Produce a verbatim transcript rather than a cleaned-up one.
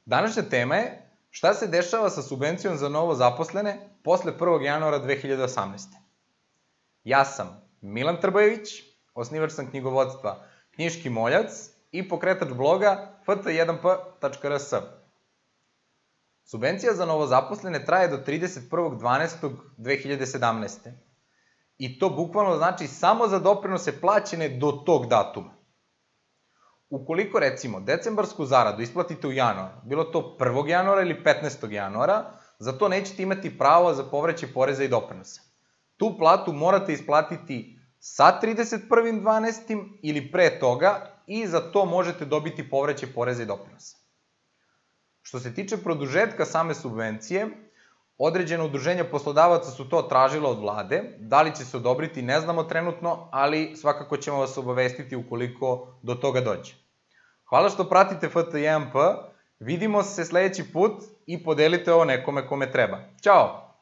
Današnja tema je šta se dešava sa subvencijom za novo zaposlene posle prvog januara dve hiljade osamnaeste. Ja sam Milan Trbojević, osnivač sam knjigovodstva Knjiški moljac i pokretač bloga f t jedan p tačka r s. Subvencija za novozaposlene traje do trideset prvog dvanaestog dve hiljade sedamnaeste. I to bukvalno znači samo za doprinose plaćene do tog datuma. Ukoliko, recimo, decembarsku zaradu isplatite u januaru, bilo to prvog januara ili petnaestog januara, za to nećete imati pravo za povraćaj poreza i doprinosa. Tu platu morate isplatiti sa trideset prvog dvanaestog ili pre toga i za to možete dobiti povraćaj poreza i doprinosa. Što se tiče produžetka same subvencije, određene udruženja poslodavaca su to tražila od vlade, da li će se odobriti ne znamo trenutno, ali svakako ćemo vas obavestiti ukoliko do toga dođe. Hvala što pratite f t jedan p, vidimo se sledeći put i podelite ovo nekome kome treba. Ćao!